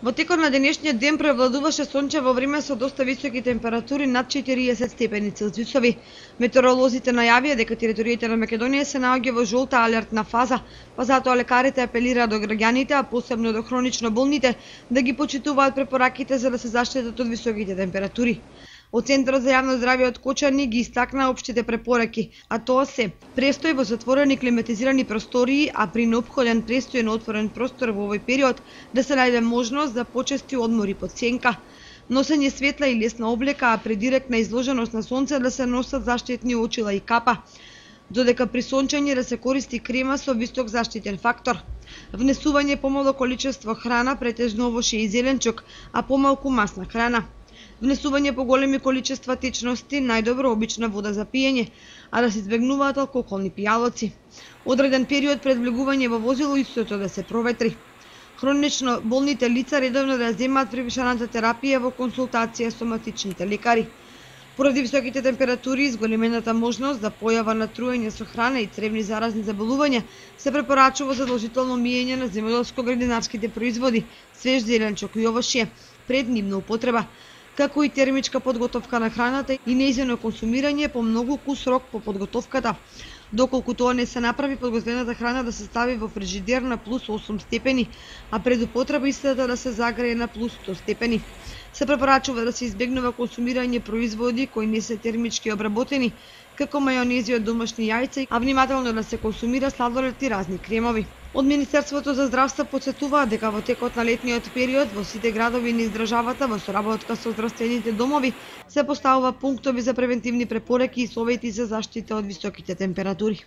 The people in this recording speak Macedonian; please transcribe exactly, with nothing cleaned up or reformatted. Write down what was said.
Во текот на денешниот ден превладуваше сончево време со доста високи температури над четириесет степени Целзиусови. Метеоролозите најавија дека територијата на Македонија се наоѓа во жолта алертна фаза, па затоа лекарите апелираат до граѓаните, а посебно до хронично болните, да ги почитуваат препораките за да се заштитат од високите температури. Од Центарот за јавно здравје од Кочани ги истакна општите препораки, а тоа се престој во затворени климатизирани простории, а при неопходен престој на отворен простор во овој период да се најде можност за почести одмори под сенка, носење светла и лесна облека, а при директна изложеност на сонце да се носат заштитни очила и капа, додека при сончење да се користи крема со висок заштитен фактор. Внесување помало количество храна, претежно овошје и зеленчук, а помалку масна храна. Внесување по големи количества течности, најдобро обична вода за пиење, а да се избегнуваат алкохолни пијалоци. Одреден период пред влегување во возило истото да се проветри. Хронично болните лица редовно да земаат превишената терапија во консултација со соматичните лекари. Поради високите температури и зголемената можност за појава на труење со храна и цревни заразни заболувања, се препорачува задолжително миење на земјоделско-градинарските производи, свеж зеленчук и овошје пред нивна употреба, како и термичка подготовка на храната и нејзино консумирање по многу кус рок по подготовката. Доколку тоа не се направи, подготвената храна да се стави во фрижидер на плюс осум степени, а пред употреба истата да се загрее на плюс сто степени. Се препорачува да се избегнува консумирање производи кои не се термички обработени, како мајонези од домашни јајца, а внимателно да се консумира сладолед и разни кремови. Од Министерството за здравство потсетуваат дека во текот на летниот период во сите градови низ државата во соработка со здравствените домови се поставува пунктови за превентивни препораки и совети за заштита од високите температури.